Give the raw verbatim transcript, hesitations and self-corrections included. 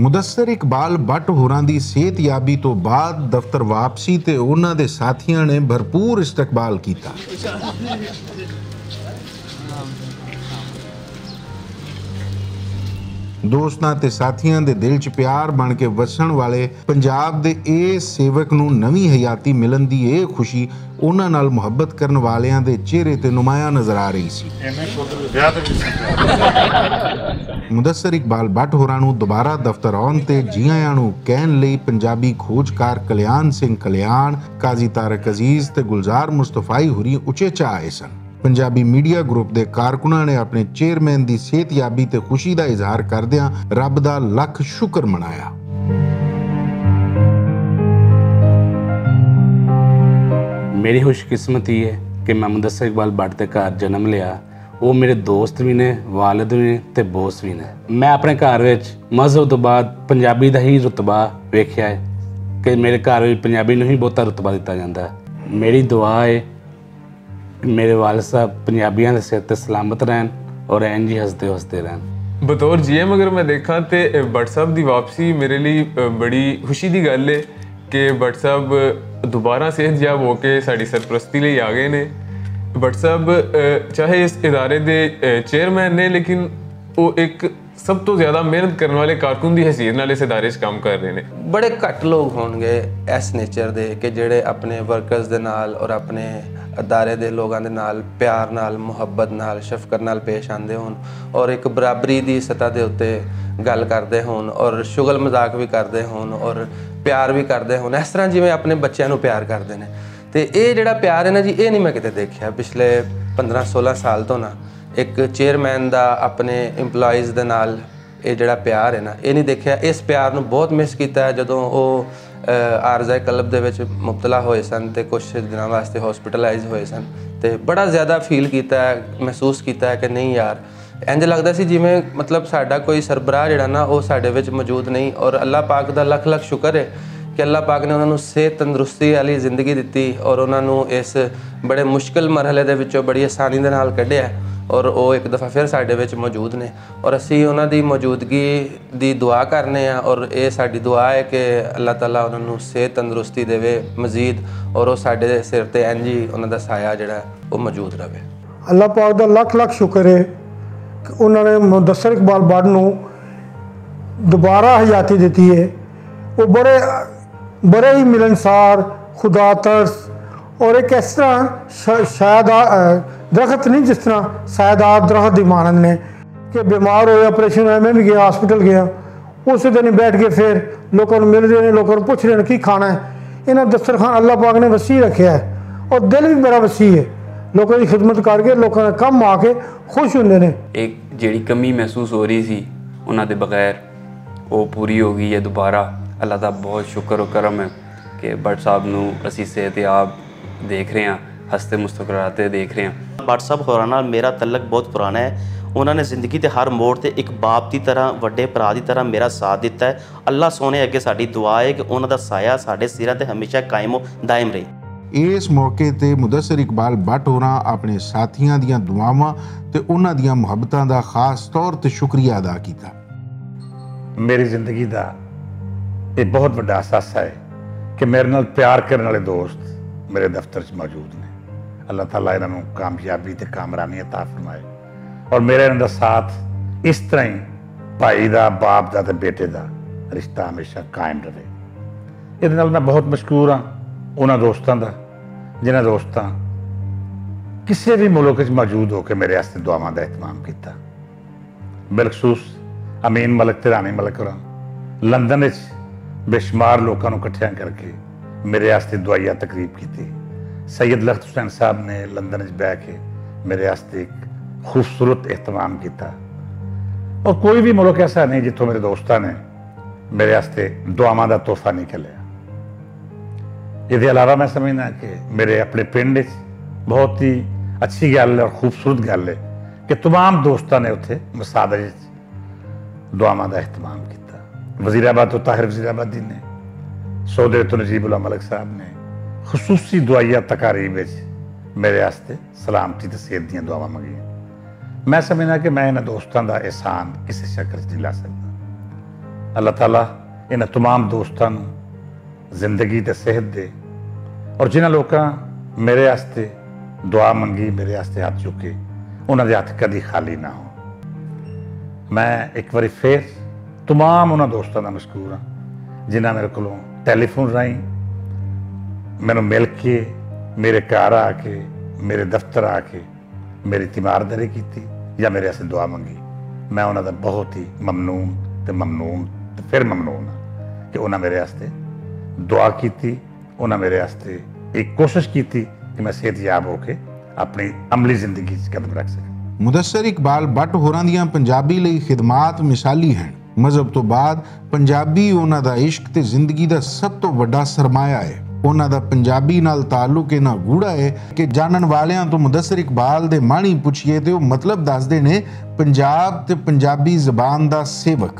مدثر اقبال بٹ ہوراں دی صحت یابی توں بعد دفتر واپسی تے انہاں دے ساتھیاں نے بھرپور استقبال کیتا۔ دوستاں تے ساتھیاں دے دل چ پیار بن کے وسن والے پنجاب دے اے سیوک نوں نوی حیاتی ملن دی اے خوشی انہاں نال محبت کرن والیاں دے چہرے تے نمایاں نظر آ رہی سی۔ مدثر اقبال بٹ ہوراں نوں دوبارہ دفتر آن تے جیاں نوں کہن لئی پنجابی کھوجکار کلیان سنگھ کلیان، قاضی طارق عزیز تے گلزار مصطفی ہوری اچے چا آئے سن۔ پنجابی میڈیا گروپ دے کارکناں نے اپنے چیئرمین دی صحت یابی تے خوشی دا اظہار کردیاں رب دا لکھ شکر منایا۔ میری خوش قسمتی ہے کہ میں مدثر اقبال بٹ دے گھر جنم لیا۔ وہ میرے دوست بھی نے، والد بھی نے تے بوس بھی نے۔ میں اپنے گھر وچ مذہب تو بعد پنجابی دا ہی رتبہ ویکھیا ہے کہ میرے گھر وچ پنجابی نوں ہی بہتا رتبہ دتا جاندا ہے۔ میری دعا ہے میرے والد صاحب پنجابیاں دے سر تے سلامت رہن اور این جی ہسدے ہسدے رہن۔ بطور جی ایم اگر میں دیکھاں تے بٹ صاحب دی واپسی میرے لئی بڑی خوشی دی گل ہے کہ بٹ صاحب دوبارہ صحت یاب ہو کے ساڈی سرپرستی لئی آ گئے نے۔ بٹ صاحب چاہے اس ادارے دے چیئرمین نے، لیکن وہ ایک سب تو زیادہ محنت کرن والے کارکن دی حیثیت نال اس ادارے چ کام کر رہے نے۔ بڑے گھٹ لوگ ہون گے ایس نیچر دے کہ جڑے اپنے ورکرز دے نال اور اپنے ادارے دے لوگاں دے نال پیار نال، محبت نال، شفقت نال پیش آندے ہون اور ایک برابری دی سطح دے اتے گل کردے ہون اور شغل مذاق وی کردے ہون اور پیار وی کردے ہون، اس طرح جیویں اپنے بچیاں نوں پیار کردے نے۔ تے اے جڑا پیار ہے نا جی، اے نہیں میں کتے دیکھیا پچھلے پندرہ سولہ سال تو نا۔ ایک چیئرمین دا اپنے ایمپلائیز دے نال اے جڑا پیار ہے نا، اے نہیں دیکھیا۔ اس پیار نوں بہت مس کیتا ہے جدوں او عارضہ قلب دے وچ مبتلا ہوئے سن تے کچھ دناں واسطے ہاسپٹلائز ہوئے سن، تے بڑا زیادہ فیل کیتا ہے، محسوس کیتا ہے کہ نہیں یار، انج لگدا سی جویں مطلب ساڈا کوئی سربراہ جڑا نا او ساڈے وچ موجود نہیں۔ اور اللہ پاک دا لکھ لکھ شکر ہے کہ اللہ پاک نے انہاں نوں صحت تندرستی والی زندگی دتی اور انہاں نوں اس بڑے مشکل مرحلے دے وچوں بڑی آسانی دے نال کڈیا ہے اور او ایک دفعہ پھر ساڈے وچ موجود نے۔ اور اسی انہاں دی موجودگی دی دعا کرنے آں اور اے ساڈی دعا ہے کہ اللہ تعالیٰ انہاں نوں صحت تندرستی دے مزید اور او ساڈے سر تے انج ہی انہاں دا سایہ جڑا او موجود رہے۔ اللہ پاک دا لکھ لکھ شکر ہے کہ انہاں نے مدثر اقبال بٹ نوں دوبارہ حیاتی دتی ہے۔ وہ بڑے بڑے ہی ملنسار، خدا ترس اور ایک اس طرح شاید درخت نہیں جس طرح سایہ دار درخت دی مانند نے کہ بیمار ہوئے، آپریشن ہوئے، میں بھی گیا ہاسپٹل گیا، اس دن ہی بیٹھ کے پھر لوکاں نوں مل رہے ہیں، لوکاں نوں پوچھ رہے ہیں کی کھانا ہے۔ انہاں دسترخوان اللہ پاک نے وسیع رکھیا ہے اور دل بھی بڑا وسیع ہے۔ لوکاں دی خدمت کر کے لوکاں دا کم آ کے خوش ہوندے نے۔ ایک جیڑی کمی محسوس ہو رہی سی انہاں دے بغیر، وہ پوری ہو گئی ہے دوبارہ۔ اللہ دا بہت شکر و کرم ہے کہ بٹ صاحب نوں اسی صحت یاب دیکھ رہے ہیں، ہستے مسکراتے دیکھ رہے ہیں۔ بٹ صاحب ہوراں نال میرا تعلق بہت پرانا ہے۔ انہاں نے زندگی دے ہر موڑ تے ایک باپ دی طرح، وڈے بھرا دی طرح میرا ساتھ دتا ہے۔ اللہ سونے اگے ساڈی دعا ہے کہ انہاں دا سایہ ساڈے سراں تے ہمیشہ قائم و دائم رہے۔ اس موقع تے مدثر اقبال بٹ ہوراں اپنے ساتھیاں دیاں دعاواں تے انہاں دیاں محبتاں دا خاص طور تے شکریہ ادا کیتا۔ میری زندگی دا یہ بہت وڈا اثاثہ ہے کہ میرے نال پیار کرنے والے دوست میرے دفتر چ موجود نے۔ اللہ تعالیٰ انہاں نوں کامیابی تے کامرانی عطا فرمائے اور میرا انہاں دا ساتھ اس طرح ہی بھائی دا، باپ دا تے بیٹے دا رشتہ ہمیشہ قائم رہے۔ یہ نال میں بہت مشکور ہاں انہاں دوستاں دا، جنہاں دوستاں کسے بھی ملک وچ موجود ہو کے میرے واسطے دعاواں دا اہتمام کیتا۔ بالخصوص امین ملک تے رانی ملک ہوراں لندن وچ بے شمار لوکاں نوں اکٹھیاں کر کے میرے واسطے دعائیہ تقریب کیتی۔ سید لخت حسین صاحب نے لندن وچ بہ کے میرے واسطے ایک خوبصورت اہتمام کیتا۔ اور کوئی بھی ملک ایسا نہیں جتھوں میرے دوستاں نے میرے واسطے دعاواں دا تحفہ نہیں کھلیا۔ اس دے علاوہ میں سمجھنا کہ میرے اپنے پنڈ وچ بہت ہی اچھی گل اور خوبصورت گل ہے کہ تمام دوستاں نے اتھے مساجد وچ دعاواں دا اہتمام کیتا۔ وزیر آباد تو طاہر وزیر آبادی نے، سعودی عرب تو نجیب اللہ ملک صاحب نے خصوصی دعائیہ تقاریب وچ میرے واسطے سلامتی تے صحت دیاں دعاواں منگیاں۔ میں سمجھنا کہ میں انہاں دوستاں دا احسان کسے شکل وچ نہیں لا سکدا۔ اللہ تعالیٰ انہاں تمام دوستاں نوں زندگی تے صحت دے، اور جنہاں لوکاں میرے واسطے دعا منگی، میرے واسطے ہاتھ چکے، انہاں دے ہاتھ کدی خالی نہ ہو۔ میں ایک واری پھر تمام انہاں دوستاں دا مشکور ہاں، جنہاں میرے کولوں ٹیلی فون راہیں مینوں مل کے، میرے گھر آ کے، میرے دفتر آ کے میری تیمارداری کیتی یا میرے واسطے دعا منگی۔ میں انہاں دا بہت ہی ممنون تے ممنون تے پھر ممنون ہاں کہ انہاں میرے واسطے دعا کیتی، انہاں میرے واسطے ایک کوشش کیتی کہ میں صحت یاب ہو کے اپنی عملی زندگی 'چ قدم رکھ سکاں۔ مدثر اقبال بٹ ہوراں دیاں پنجابی لئی خدمات مثالی ہن۔ مذہب تو بعد پنجابی انہاں دا عشق تے زندگی دا سب تو وڈا سرمایہ ہے۔ انہاں دا پنجابی نال تعلق انہاں گوڑا ہے کہ جانن والیاں تو مدثر اقبال دے معنی پچھیے تے او مطلب دسدے نے، پنجاب تے پنجابی زبان دا سیوک۔